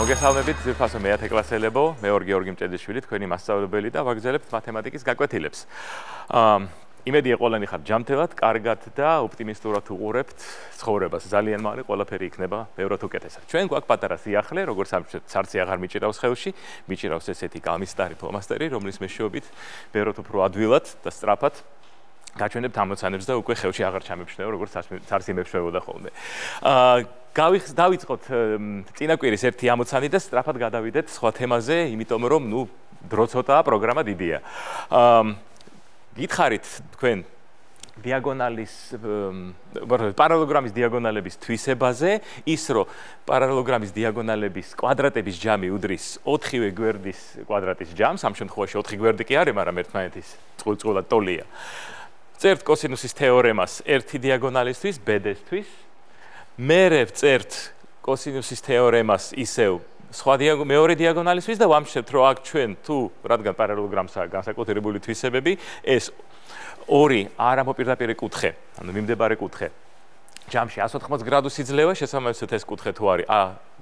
მოგესალმებით, ძირფასო მეათე კლასელებო, მე ვარ გიორგი მჭედიშვილი, თქვენი მასწავლებელი და ვაგრძელებთ მათემატიკის გაკვეთილებს. იმედია ყველანი ხართ ჯანმრთელად, კარგად და ოპტიმისტურად უყურებთ ცხოვრებას. ძალიან მალე ყველაფერი იქნება ბევრად უკეთესად. ჩვენ გვაქვს პატარა სიახლე, როგორც სარცი აღარ მიჭირავს ხელში, მიჭირავს ესეთი კამისტარი ფლომასტერი, რომლის მეშვეობით ბევრად უფრო ადვილად და სწრაფად გაჩვენებთ ამოცანებს და უკვე ხელში აღარ ჩამებშნეო, როგორც სარცი მეშვეობდა ხოლმე. დავიწყოთ წინაკვირის ერთი ამოცანი და სწრაფად გადავიდეთ სხვა თემაზე, იმიტომ რომ დრო ცოტაა, პროგრამა დიდია. გითხარით თქვენ პარალელოგრამის დიაგონალების თვისებაზე, ის რომ პარალელოგრამის დიაგონალების კვადრატების ჯამი უდრის 4-ვე გვერდის კვადრატის ჯამს, ამ შემთხვევაში 4 გვერდი კი არის, მაგრამ ერთმანეთის წყვილად ტოლია. წერთ კოსინუსის თეორემას ერთი დიაგონალისთვის, ბედესთვის. მერე ვწერთ კოსინუსის თეორემას ისევ მეორე დიაგონალისთვის და ვამჩნევთ, რომ აქ ჩვენ თუ რადგან პარალელოგრამსაა განსაკუთრებული თვისებები, ეს ორი არამოპირდაპირე კუთხე, ანუ მიმდებარე კუთხე. ჯამში 180 გრადუსი ძლევა, შესაბამისად ეს კუთხე თუ არის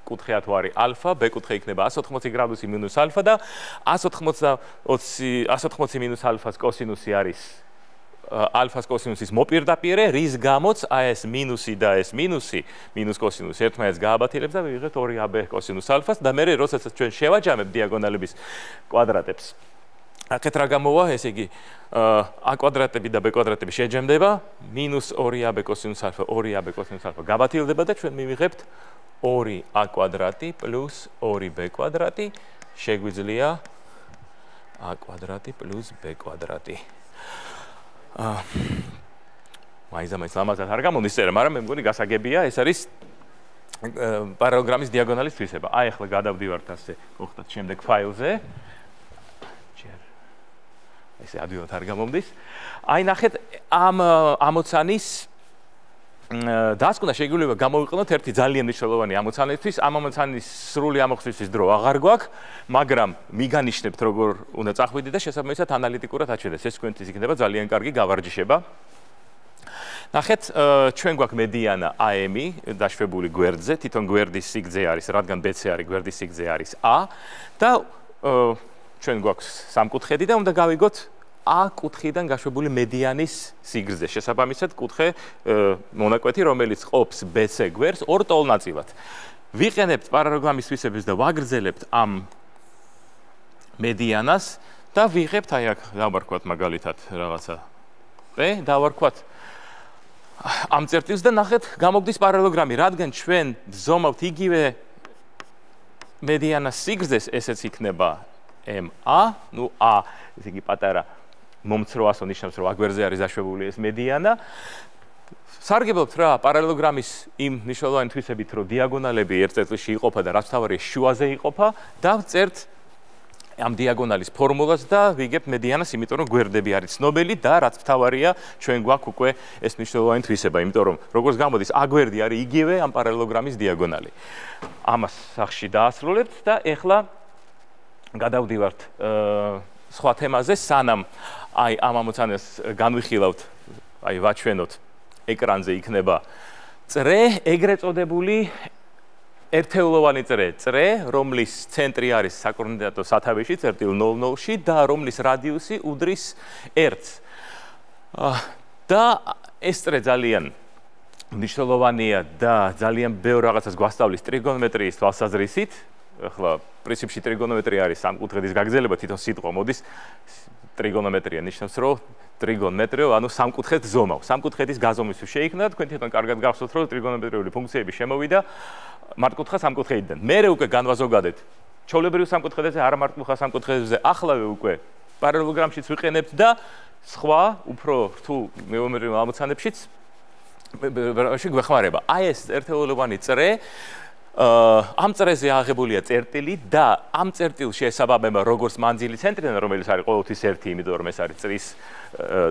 კუთხეა თუ არის ალფა, B კუთხე იქნება 180 გრადუსი მინუს ალფა და 180 მინუს ალფას კოსინუსი არის ალფას კოსინუსის მოპირდაპირე, რის გამოც ეს მინუსი და ეს მინუს კოსინუსი ერთმანეთს გააბათილებს და ვიღებთ 2AB კოსინუს ალფას და მერე როდესაც ჩვენ შევაჯამებთ დიაგონალების კვადრატებს. აქეთ რა გამოვა, ესე იგი A კვადრატები და B კვადრატები შეჯამდება, -2AB კოსინუს ალფა, 2AB კოსინუს ალფა გაბათილდება და ჩვენ მივიღებთ 2A კვადრატი + 2B კვადრატი შეგვიძლია A კვადრატი + B კვადრატი. მაინც ლამაზად არ გამოდის წერა, მაგრამ მე მგონი გასაგებია, ეს არის პარალელოგრამის დიაგონალის თვისება. აი ახლა გადავდივართ ასე, მოხდათ შემდეგ ფაილზე. ესე ადვილად არ გამომდის. აი ნახეთ, ამ ამოცანის დასკვნა შეგვიძლია გამოვიყენოთ ერთი ძალიან მნიშვნელოვანი ამოცანისთვის. ამ ამოცანის სრული ამოხსნისთვის დრო აღარ გვაქვს, მაგრამ მიგანიშნებთ როგორ უნდა წახვიდეთ და შესაბამისად ანალიტიკურად აჩვენეთ. ეს თქვენთვის იქნება ძალიან კარგი გავარჯიშება. ნახეთ, ჩვენ გვაქვს მედიანა AM-ი დაშვებული გვერდზე, თვითონ გვერდის სიგრძე არის, რადგან BC არის, გვერდის სიგრძე არის A და ჩვენ გვაქვს სამკუთხედი და უნდა გავიგოთ A კუთხიდან გაშვებული მედიანის სიგრძე. შესაბამისად, კუთხე მონაკვეთი, რომელიც ყოფს BC გვერდს ორ ტოლ-ნაწილად. ვიყენებთ პარალელოგრამის თვისებებს და ვაგრძელებთ ამ მედიანას და ვიღებთ, აი აქ დავარქვათ მაგალითად რაღაცა B, დავარქვათ ამ წერტილს და ნახეთ, გამოგდის პარალელოგრამი, რადგან ჩვენ ვზომავთ იგივე მედიანას სიგრძეს, ესეც იქნება MA, A, ესე იგი პატარა მომცრო ასო ნიშნავს, რომ აგვერზე არის დაშვებული ეს მედიანა. სარგებლობთ რა პარალელოგრამის იმ მნიშვნელოვანი თვისებით, რომ დიაგონალები ერთ წერტილში იყოფა და რაც თავარია შუაზე იყოფა და ვწერთ ამ დიაგონალის ფორმულას და ვიგებთ მედიანას, იმიტომ რომ გვერდები არის ცნობილი და რაც თავარია ჩვენ გვაქვს უკვე ეს მნიშვნელოვანი თვისება, იმიტომ რომ როგორც გამოდის, A გვერდი არის იგივე ამ პარალელოგრამის დიაგონალი. ამას სახში დაასრულებთ და ეხლა გადავდივართ სხვა თემაზე, სანამ აი ამ ამოცანას განვიხილავთ, აი ვაჩვენოთ ეკრანზე იქნება წრე, ეგრეთ წოდებული ერთეულოვანი წრე, რომლის ცენტრი არის საკოორდინატო სათავეში, წერტილ 0-0-ში და რომლის რადიუსი უდრის 1-ს. და ეს წრე ძალიან მნიშვნელოვანია და ძალიან ბევრ რაღაცას გვასწავლის ტრიგონომეტრიის თვალსაზრისით. ახლა პრინციპში ტრიგონომეტრია არის სამკუთხედის გაგრძელება, თვითონ სიტყვა მოდის ტრიგონომეტრია ნიშნავს, რომ ტრიგონმეტრიო, ანუ სამკუთხედს ზომავ. სამკუთხედის გაზომვის შეიქმნა, თქვენ თვითონ კარგად გახსოვთ, რომ ტრიგონომეტრიული ფუნქციები შემოვიდა მართკუთხა სამკუთხედიდან. მერე უკვე განვაზოგადეთ ჩვეულებრივ სამკუთხედებზე, არამართკუთხა სამკუთხედებზე, ახლავე უკვე პარალელოგრამშიც ვიყენებთ და სხვა უფრო რთულ გეომეტრიულ ამოცანებშიც გვეხმარება. აი ეს ერთეულოვანი წრე ამ წრეზე აღებულია წერტილი და ამ წერტილში ესაბამება როგორც მანძილი ცენტრიდან, რომელიც არის ყოველთვის 1, იმიტომ რომ ეს არის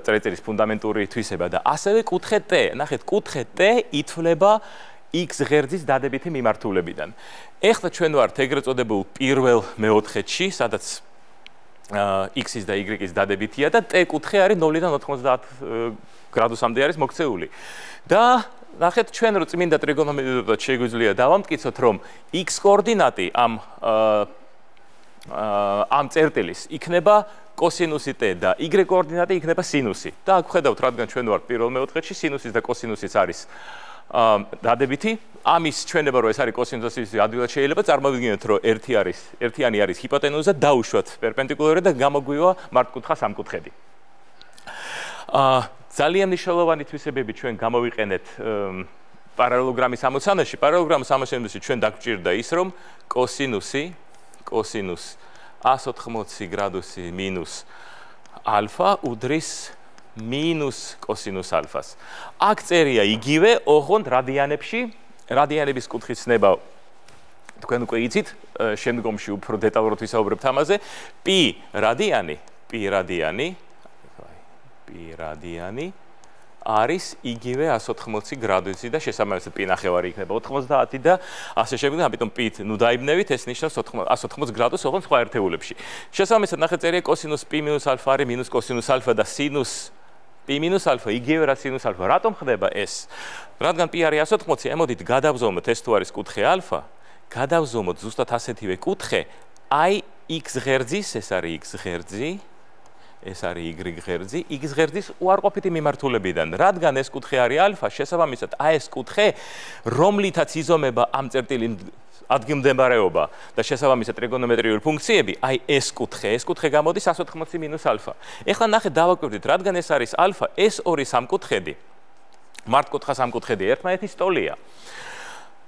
წერტილის ფუნდამენტური თვისება და ასევე კუთხე T. ნახეთ, კუთხე T ითვლება X ღერძის დადებითი მიმართულებიდან. ეხლა ჩვენ ვართ ეგრეთ წოდებულ პირველ მეოთხედში, სადაც X-ის და Y-ის დადებითია და T კუთხე არის 0-დან 90 გრადუსამდე არის მოქცეული. და ნახეთ, ჩვენ რო წმინდა ტრიგონომეტრიულად შეგვიძლია დავამტკიცოთ, რომ x კოორდინატი ამ წერტილის იქნება კოსინუსი t და y კოორდინატი იქნება სინუსი. და აქ ხედავთ, რადგან ჩვენ ვართ პირველ მეოთხედში, სინუსის და კოსინუსის არის დადებითი. ამის ჩვენება, რომ ეს არის კოსინუსის ადვილად შეიძლება წარმოვიდგინოთ, რომ ერთიანი არის ჰიპოტენუზა, დაუშვათ პერპენდიკულარი და გამოგვივა მართკუთხა სამკუთხედი. ძალიან მნიშვნელოვანი თვისებები ჩვენ გამოვიყენეთ პარალელოგრამის ამოცანაში. პარალელოგრამის ამოცანაში ჩვენ დაგვჭირდა ის, რომ კოსინუს 180 გრადუსი მინუს ალფა უდრის მინუს კოსინუს ალფას. აქ წერია იგივე, ოღონდ რადიანებში, რადიანების კუთხის ცნება თქვენ უკვე იცით, შემდგომში უფრო დეტალურად ვისაუბრებთ ამაზე. π რადიანი არის იგივე 180 გრადუსი და შესაბამისად π ნახევარი იქნება 90 და ასე შემდეგ, ამიტომ π-ით ნუ დაიბნევით, ეს ნიშნავს 180 გრადუსს, ოღონდ სხვა ერთეულებში. შესაბამისად ნახეთ წერია კოსინუს π მინუს ალფა არის მინუს კოსინუს ალფა და სინუს π მინუს ალფა იგივე რა სინუს ალფა. რატომ ხდება ეს? რადგან π არის 180, ემოდით გადავზომოთ ეს თუ არის კუთხე ალფა, გადავზომოთ ზუსტად ასეთივე კუთხე, აი x ღერძის, ეს არის x ღერძი, ეს არის y ღერძი, x ღერძის უარყოფითი მიმართულებიდან. რადგან ეს კუთხე არის ალფა, შესაბამისად აი ეს კუთხე, რომლითაც იზომება ამ წერტილი ადგილმდებარეობა და შესაბამისად ტრიგონომეტრიული ფუნქციები, აი ეს კუთხე გამოდის 180 მინუს ალფა. ეხლა ნახეთ, დავაკვირდით, რადგან ეს არის ალფა, ეს ორი სამკუთხედი, მართკუთხა სამკუთხედი ერთმანეთის ტოლია.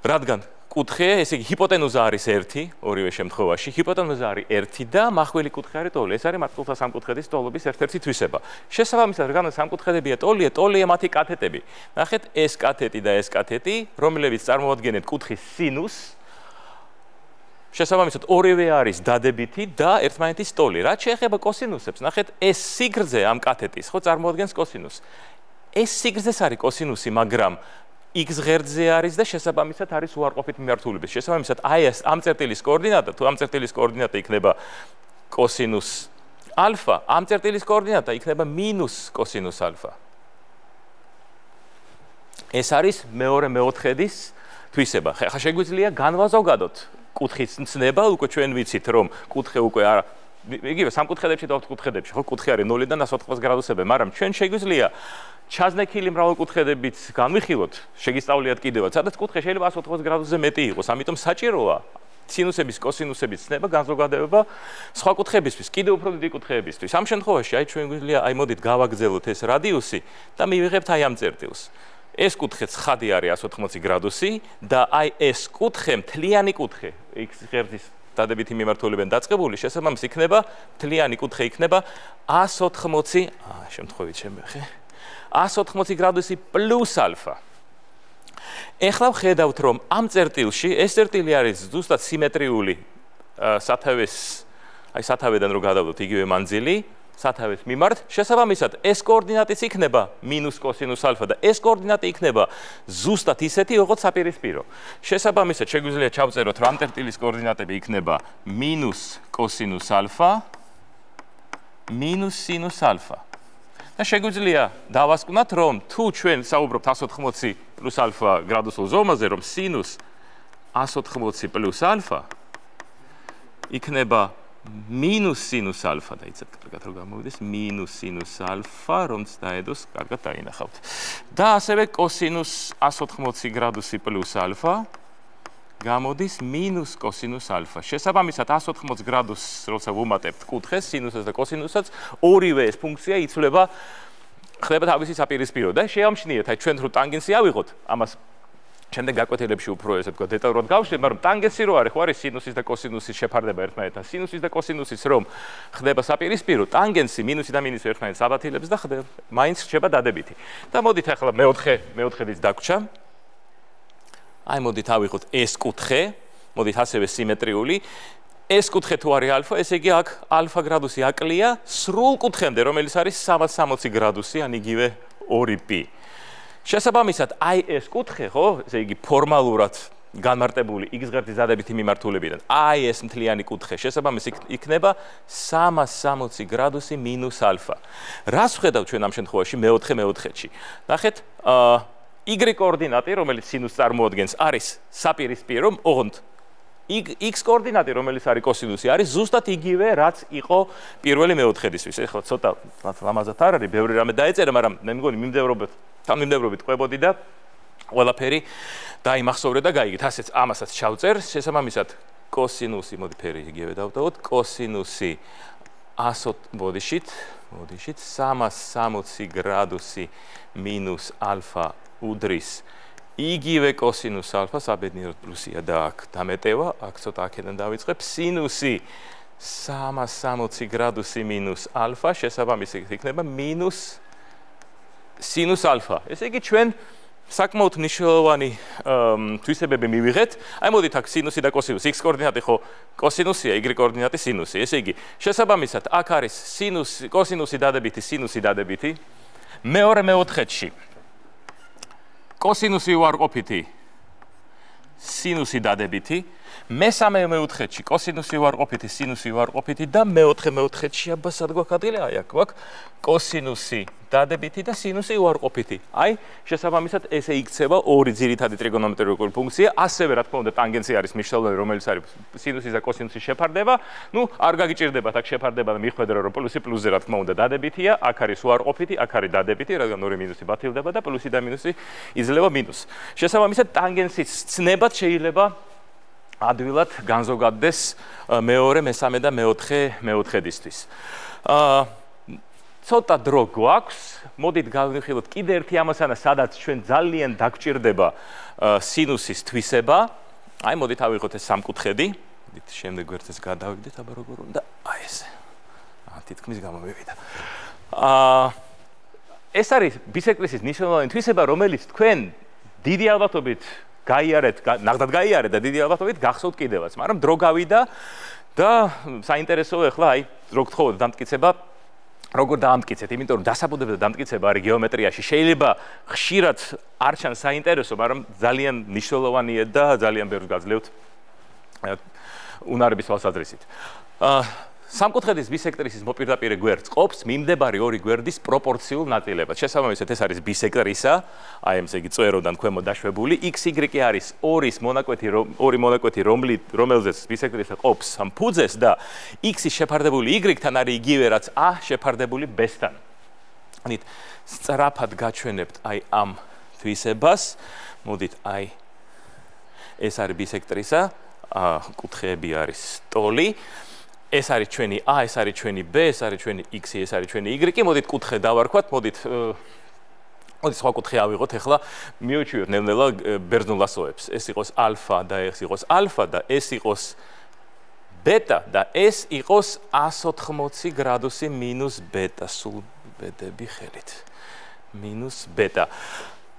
რადგან კუთხე, ესე იგი ჰიპოტენუზა არის 1, ორივე შემთხვევაში, ჰიპოტენუზა არის 1 და მახვილი კუთხე არის ტოლი. ეს არის მართკუთხა სამკუთხედის ტოლობის ერთ-ერთი თვისება. შესაბამისად, რადგან სამკუთხედებია ტოლია მათი კათეტები. ნახეთ, ეს კათეტი და ეს კათეტი, რომლებიც წარმოადგენენ კუთხის სინუსს, შესაბამისად ორივე არის დადებითი და ერთმანეთის ტოლი. რაც შეეხება კოსინუსებს, ნახეთ, ეს სიგრძე ამ კათეტის ხო წარმოადგენს კოსინუსს. ეს სიგრძეს არის კოსინუსი, მაგრამ x ღერძზე არის და შესაბამისად არის უარყოფით მიმართულების. შესაბამისად, აი ეს ამ წერტილის კოორდინატა, თუ ამ წერტილის კოორდინატა იქნება კოსინუს ალფა, ამ წერტილის კოორდინატა იქნება მინუს კოსინუს ალფა. ეს არის მეორე მეოთხედის თვისება. ხა შეგვიძლია განვაზოგადოთ კუთხის ცნება, უკვე ჩვენ ვიცით, რომ კუთხე უკვე არა იგივე სამკუთხედებში და ოთხკუთხედებში, ხო, კუთხე არის 0-დან 180 გრადუსები, მაგრამ ჩვენ შეგვიძლია ჩაზნექილი მრავალკუთხედებით განვიხილოთ, შეგისწავლიათ კიდევაც, სადაც კუთხე შეიძლება 180 გრადუსზე მეტი იყოს, ამიტომ საჭიროა სინუსების, კოსინუსების ცნება, განზოგადებება სხვა კუთხეებისთვის, კიდევ უფრო დიდი კუთხეებისთვის. ამ შემთხვევაში აი ჩვენ გვიძლია, აი მოდით გავაგრძელოთ ეს რადიუსი და მივიღებთ აი ამ წერტილს. ეს კუთხე ცხადი არის 180 გრადუსი და აი ეს კუთხე, მთლიანი კუთხე, x ღერძის დადებითი მიმართულებიდან დაწყებული, შესაბამისად იქნება მთლიანი კუთხე იქნება 180, შემთხვევით შემეხე 180 გრადუსი პლუს ალფა. ეხლა ვხედავთ, რომ ამ წერტილში ეს წერტილი არის ზუსტად სიმეტრიული სათავედან რო გადავდოთ იგივე მანძილი, სათავეს მიმართ, შესაბამისად ეს კოორდინატიც იქნება მინუს კოსინუს ალფა და ეს კოორდინატი იქნება ზუსტად ისეთი, როგორც საპირისპირო. შესაბამისად შეგვიძლია ჩავწეროთ, რომ ამ წერტილის კოორდინატები იქნება მინუს კოსინუს ალფა, მინუს სინუს ალფა. და შეგვიძლია დავასკვნათ, რომ თუ ჩვენ საუბრობთ 180 პლუს ალფა გრადუსულ ზომაზე, რომ სინუს 180 პლუს ალფა იქნება მინუს სინუს ალფა და იცით კარგად რომ გამოვიდეს მინუს სინუს ალფა, რომც დაედოს კარგად დაინახავთ. და ასევე კოსინუს 180 გრადუსი პლუს ალფა გამოდის მინუს კოსინუს ალფა. შესაბამისად 180 გრადუსს როცა ვუმატებთ კუთხეს, სინუსს და კოსინუსსაც, ორივე ეს ფუნქცია იცვლება, ხდება თავისი საპირისპირო და შეამჩნიეთ, აი ჩვენ რო ტანგენსი ავიღოთ, ამას შემდეგ გაკვეთილებში უფრო ესე ვთქვა დეტალურად გავშლით, მაგრამ ტანგენსი რო არის, ხო არის სინუსის და კოსინუსის შეფარდება ერთმანეთთან. სინუსის და კოსინუსის რომ ხდება საპირისპირო, ტანგენსი მინუსი და მინუსი ერთმანეთს აბათილებს და ხდება მაინც რჩება დადებითი. და მოდით ახლა მეოთხედის დაგვრჩა. აი მოდით ავიღოთ ეს კუთხე, მოდით ასევე სიმეტრიული. ეს კუთხე თუ არის ალფა, ესე იგი აქ ალფა გრადუსი აკლია სრულ კუთხემდე, რომელიც არის 360 გრადუსი, ან იგივე 2π. შესაბამისად, აი ეს კუთხე, ხო, ესე იგი ფორმალურად განმარტებული x ღერძის დადებითი მიმართულებიდან. აი ეს მთლიანი კუთხე, შესაბამისად იქნება 360 გრადუსი მინუს ალფა. რას ვხედავთ ჩვენ ამ შემთხვევაში მეოთხედში? ნახეთ, y კოორდინატი, რომელიც სინუსს წარმოადგენს, არის საპირისპირო, ოღონდ x კოორდინატი, რომელიც არის კოსინუსი, არის ზუსტად იგივე, რაც იყო პირველი მეოთხედისთვის. ეხლა ცოტა ლამაზად არ არის, ბევრი რამე დაეწერა, მაგრამ მე მგონი მიმდევრობით ყვებოდი და ყველაფერი დაიმახსოვრე და გაიგეთ. ასეც ამასაც ჩავწერ, შესაბამისად კოსინუსი, მოდი ფერი იგივე დავტოვოთ, კოსინუსი 180-მოდიშით 360 გრადუსი მინუს ალფა უდრის იგივე კოსინუს ალფას, აბედნიეროდ პლუსია და აქ დამეტევა, აქ ცოტა აქედან დავიწყებ, სინუსი 360 გრადუსი მინუს ალფა, შესაბამისად იქნება მინუს სინუს ალფა. ესე იგი ჩვენ საკმაოდ მნიშვნელოვანი თვისებები მივიღეთ. აი მოდით აქ სინუსი და კოსინუსი, x კოორდინატი ხო კოსინუსია, y კოორდინატი სინუსი. ესე იგი შესაბამისად აქ არის სინუსი, კოსინუსი დადებითი, სინუსი დადებითი. მეორე მეოთხედში კოსინუსი უარყოფითი, სინუსი დადებითი. მესამე მეოთხედში კოსინუსი უარყოფითი, სინუსი უარყოფითი და მეოთხე მეოთხედში აბა სად გვაქვს ადგილი? აი აქ გვაქვს კოსინუსი დადებითი და სინუსი უარყოფითი. აი შესაბამისად ესე იქცევა ორი ძირითადი ტრიგონომეტრიული ფუნქცია, ასევე რა თქმა უნდა ტანგენცია არის მნიშვნელოვანი, რომელიც არის სინუსის და კოსინუსის შეფარდება. ნუ არ გაგიჭირდებათ აქ შეფარდება და მიხვედრე რომ პლუსი პლუსზე რა თქმა უნდა დადებითია, აქ არის უარყოფითი, აქ არის დადებითი, რადგან ორი მინუსი ბათილდება და პლუსი და მინუსი იძლევა მინუსს. შესაბამისად ტანგენცის ცნებად შეიძლება ადვილად განზოგადდეს მეორე, მესამე და მეოთხე მეოთხედისთვის. ცოტა დრო გვაქვს, მოდით გავიხილოთ კიდე ერთი ამასანა, სადაც ჩვენ ძალიან დაგჭირდება სინუსის თვისება. აი მოდით ავიღოთ ეს სამკუთხედი, მოდით შემდეგ ვერცეს გადავიდეთ, აბა როგორ უნდა, აი ესე. თითქმის გამომივიდა. ეს არის ბისექტრისის მნიშვნელოვანი თვისება, რომელიც თქვენ დიდი ალბათობით გაიარეთ, ნახდათ გაიარეთ და დიდი ალბათობით გახსოვთ კიდევაც, მაგრამ დრო გავიდა და საინტერესოა ახლა აი რო გთხოვოთ დამტკიცება, როგორ დაამტკიცეთ, იმიტომ რომ დასაბუთებდა დამტკიცება არის გეომეტრიაში. შეიძლება ხშირად არ ჩანს საინტერესო, მაგრამ ძალიან მნიშვნელოვანია და ძალიან ბევრს გაძლევთ უნარების თვალსაზრისით. სამკუთხედის ბისექტრისის მოპირდაპირე გვერდს ყოფს მიმდებარი ორი გვერდის პროპორციულ ნაწილებად. შესაბამისად ეს არის ბისექტრისა, აი ესე იგი წვეროდან ქვემოთ დაშვებული, x, y არის ორი მონაკვეთი, რომელზეც ბისექტრისა ყოფს ამ ფუძეს და x-ის შეფარდებული y-თან არის იგივე რაც a შეფარდებული b-სთან. ანუ სწრაფად გაჩვენებთ აი ამ თვისებას. მოდით აი ეს არის ბისექტრისა, კუთხეები არის ტოლი. ეს არის ჩვენი a, ეს არის ჩვენი b, ეს არის ჩვენი x, ეს არის ჩვენი y. მოდით კუთხე დავარქვათ, მოდით სხვა კუთხე ავიღოთ, ახლა მივიჩვიოთ ნელ-ნელა ბერძნულ ასოებს. ეს იყოს ალფა და ეს იყოს ალფა და ეს იყოს ბეტა და ეს იყოს 180 გრადუსი მინუს ბეტა, სულ ბედები ხელით. მინუს ბეტა.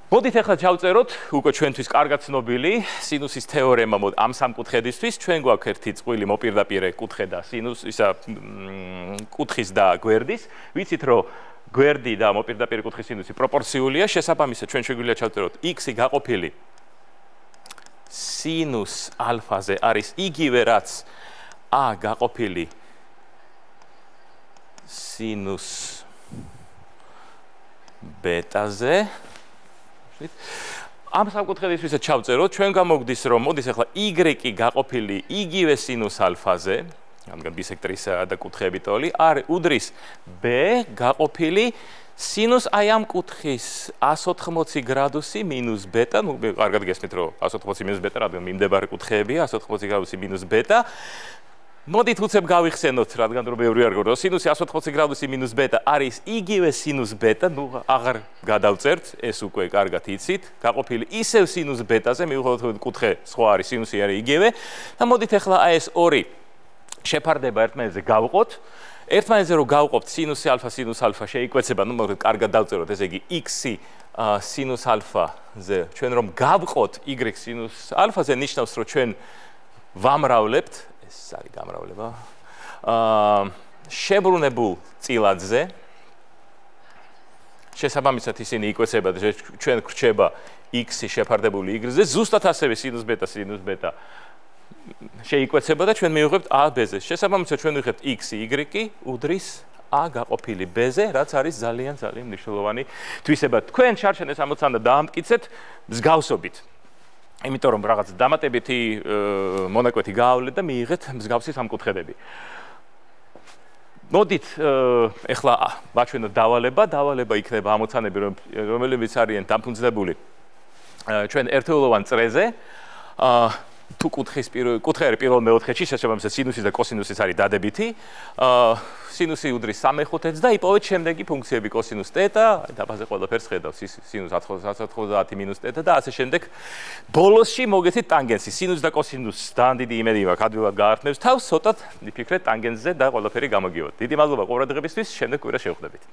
მოდით ახლა ჩავწეროთ უკვე ჩვენთვის კარგად ცნობილი სინუსის თეორემა ამ სამკუთხედისთვის. ჩვენ გვაქვს ერთი წყვილი მოპირდაპირე კუთხე და სინუსისა კუთხის და გვერდის. ვიცით რომ გვერდი და მოპირდაპირე კუთხის სინუსი პროპორციულია. შესაბამისად ჩვენ შეგვიძლია ჩავწეროთ x-ი გაყოფილი სინუს ალფაზე არის იგივე რაც a გაყოფილი სინუს ბეტაზე. ამ სამკუთხედისთვისაც ჩავწეროთ, ჩვენ გამოგდის რომ მოდის ახლა y-ი გაყოფილი იგივე სინუს ალფაზე, რადგან ბისექტრისა და კუთხეები ტოლი, არის უდრის b გაყოფილი სინუს აი ამ კუთხის 180 გრადუსი მინუს ბეტა, ნუ კარგად გესმით რომ 180 მინუს ბეტა, რადგან მიმდებარე კუთხეებია 180 გრადუსი მინუს ბეტა. მოდით უცებ გავიხსენოთ, რადგან რომ ბევრი არ გქონდა, სინუსი 180 გრადუსი მინუს ბეტა არის იგივე სინუს ბეტა, ნუ აღარ გადავწერთ, ეს უკვე კარგად იცით, გაყოფილი ისევ სინუს ბეტაზე, მივხვდეთ კუთხე სხვა არის, სინუსი არის იგივე და მოდით ახლა აი ეს ორი შეფარდება ერთმანეთზე გავყოთ. ერთმანეთზე რომ გავყოფთ სინუსი αλφა შეიკვეცება, ნუ მოგეთ კარგად დავწეროთ, ესე იგი x-ი სინუს ალფაზე, ჩვენ რომ გავყოთ y სინუს ალფაზე, ნიშნავს რომ ჩვენ ვამრავლებთ ეს არის გამრავლება შებრუნებულ წილადზე. შესაბამისად ისინი იკვეცება და ჩვენ გვრჩება x-ი შეფარდებული y-ზე, ზუსტად ასევე სინუს ბეტა შეიკვეცება და ჩვენ მივიღებთ a b-ზე. შესაბამისად ჩვენ ვიღებთ x, y უდრის a გაყოფილი b-ზე, რაც არის ძალიან მნიშვნელოვანი თვისება. თქვენ შარშან ეს ამოცანა დაამტკიცეთ მსგავსობით. იმიტომ რომ რაღაც დამატებითი მონაკვეთი გაავლეთ და მიიღეთ მსგავსი სამკუთხედები. მოდით ეხლა ვაჩვენოთ დავალება იქნება ამოცანები რომლებიც არიან დამფუძნებული ჩვენ ერთეულოვან წრეზე თუ კუთხე არის პირველ მეოთხედში შესაბამისად სინუსი და კოსინუსიც არის დადებითი სინუსი უდრის 3/5-ს და იპოვეთ შემდეგი ფუნქციები კოსინუს θ დაბაზე ყველაფერს ხედავს სინუს 190 - θ და ასე შემდეგ ბოლოსში მოგეცით ტანგენსი სინუს და კოსინუს ძალიან დიდი იმედი მაქვს ადვილად გაართმევს თავს ცოტად მიფიქრეთ ტანგენსზე და ყველაფერი გამოგივოთ დიდი მადლობა ყურადღებისთვის შემდეგ კვირას შევხვდებით